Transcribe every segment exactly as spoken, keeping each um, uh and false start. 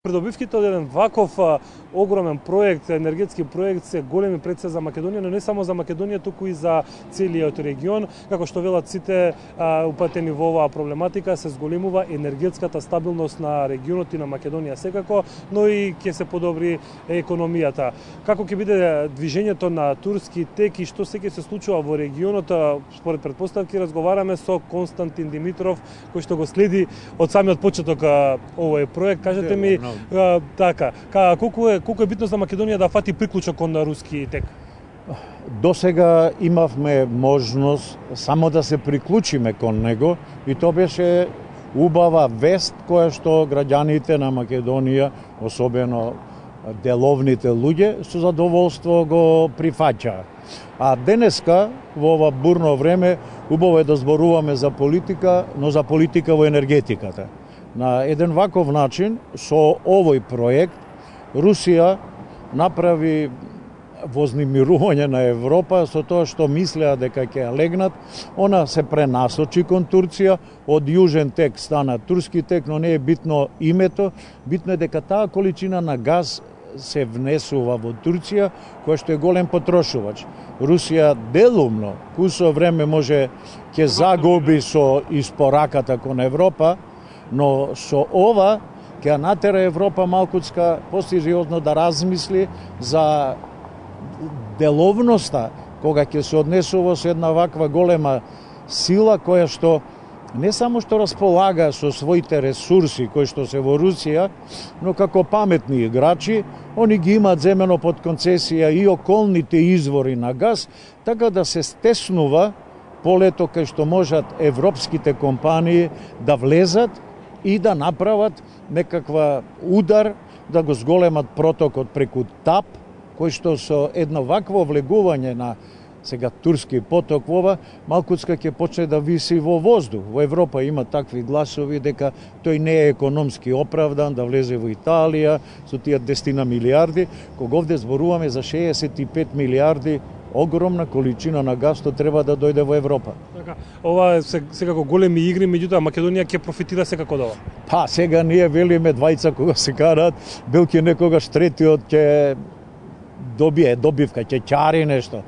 Придобивките од еден ваков а, огромен проект, енергетски проект се големи пред се за Македонија, но не само за Македонија, туку и за целиот регион. Како што велат сите а, упатени во оваа проблематика, се зголемува енергетската стабилност на регионот и на Македонија секако, но и ќе се подобри економијата. Како ќе биде движењето на турски тек и што се ќе се случува во регионот, според предпоставки разговараме со Константин Димитров, кој што го следи од самиот почеток а, овој проект. Кажете ми, А, така, ка, колку е колку е битно за Македонија да фати приклучок кон руски тек? До сега имавме можност само да се приклучиме кон него и тоа беше убава вест која што граѓаните на Македонија, особено деловните луѓе, со задоволство го прифаќаа. А денеска, во ова бурно време, убаво е да зборуваме за политика, но за политика во енергетиката. На еден ваков начин, со овој проект, Русија направи вознемирување на Европа со тоа што мислеа дека ќе ја легнат. Она се пренасочи кон Турција, од Јужен тек стана турски тек, но не е битно името, битно е дека таа количина на газ се внесува во Турција, која што е голем потрошувач. Русија делумно, кусо време може ќе загуби со испораката кон Европа, но со ова ќе натера Европа малкуцка посериозно да размисли за деловноста кога ќе се однесува со една ваква голема сила која што не само што располага со своите ресурси кои што се во Русија, но како паметни играчи, они ги имаат земено под концесија и околните извори на газ, така да се стеснува полето кај што можат европските компании да влезат и да направат некаква удар, да го зголемат протокот преку ТАП, кој што со едно вакво влегување на сега турски поток во ова, малкуцка ќе почне да виси во воздух. Во Европа има такви гласови дека тој не е економски оправдан да влезе во Италија со тие десетина милиарди, кога овде зборуваме за шеесет и пет милиарди огромна количина на газ што треба да дојде во Европа. Така, ова е секако големи игри, меѓутоа Македонија ќе профитира секако од ова. Па, сега ние велиме двајца кога се караат, белки некогаш третиот ќе добие добивка, ќе ќари нешто.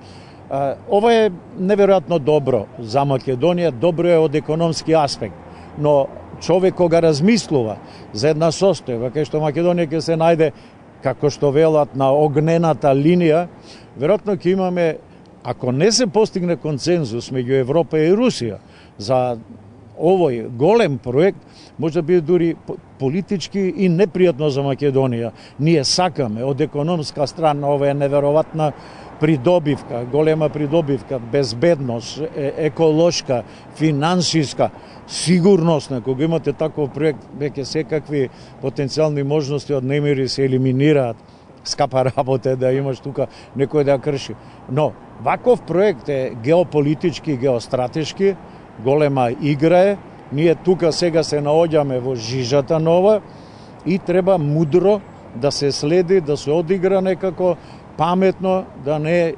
А, ова е неверојатно добро за Македонија, добро е од економски аспект, но човек кога размислува за една состојба кај што Македонија ќе се најде, како што велат, на огнената линија, веројатно ќе имаме, ако не се постигне консензус меѓу Европа и Русија за овој голем проект, може да биде дури политички и непријатно за Македонија. Ние сакаме од економска страна, ова е неверојатна придобивка, голема придобивка, безбедност, еколошка, финансиска, сигурносна. Кога имате таков проект, веќе секакви потенцијални можности од немири се елиминираат. Скапа работа да имаш тука некој да ја крши. Но ваков проект е геополитички, геостратешки, голема игра е. Ние тука сега се наоѓаме во жижата нова и треба мудро да се следи, да се одигра некако паметно, да не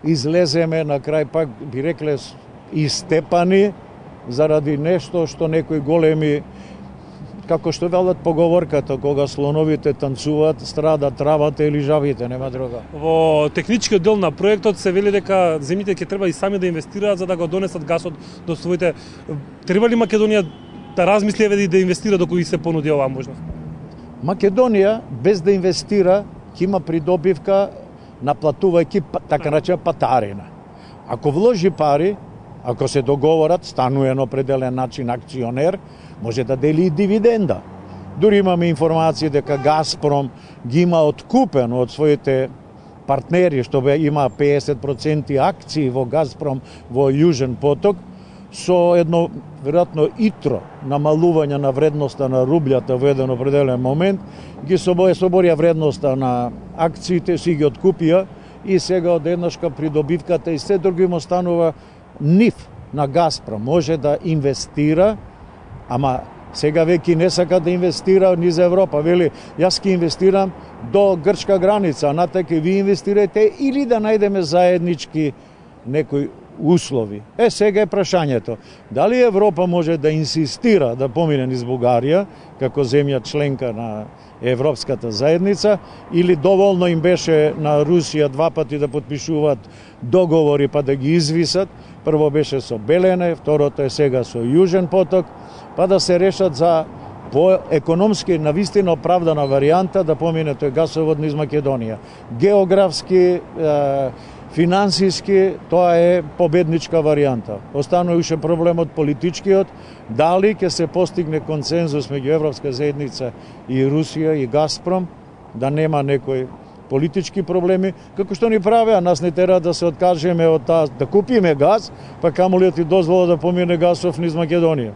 излеземе на крај, пак би рекле, истепани заради нешто што некои големи, како што велат поговорката, кога слоновите танцуваат, страда травата или жабите, нема друга. Во техничкиот дел на проектот се вели дека земјите ќе треба и сами да инвестираат за да го донесат гасот до своите. Треба ли Македонија да размисли и да инвестира доколку се понуди оваа можност? Македонија без да инвестира ќе има придобивка наплатувајќи така наречена патарина. Ако вложи пари, ако се договорат, станува на определен начин акционер, може да дели и дивиденда. Дури имаме информации дека Газпром ги има откупено од своите партнери, што има песет проценти акции во Газпром во Јужен поток, со едно, веројатно, итро намалување на вредноста на рублјата во еден определен момент, ги соборија вредноста на акциите, си ги откупија и сега од еднашка придобивката и се други му станува нив на Газпром. Може да инвестира, ама сега веќе не сака да инвестира низ Европа. Вели, јас ќе инвестирам до грчка граница, а натака ви инвестирајте или да најдеме заеднички некој услови. Е, сега е прашањето. Дали Европа може да инсистира да помине низ Бугарија, како земја членка на Европската заедница, или доволно им беше на Русија два пати да подпишуваат договори па да ги извисат. Прво беше со Белене, второто е сега со Јужен поток, па да се решат за по економски навистина оправдана варијанта да помине тој гасовод низ Македонија. Географски, е, финансиски, тоа е победничка варијанта. Останува уште проблемот политичкиот, дали ќе се постигне консензус меѓу Европска заедница и Русија и Газпром, да нема некој политички проблеми, како што ни правеа, нас не тера да се откажеме од таа, да купиме газ, па камо ли да ти дозвола да помине гасов низ Македонија.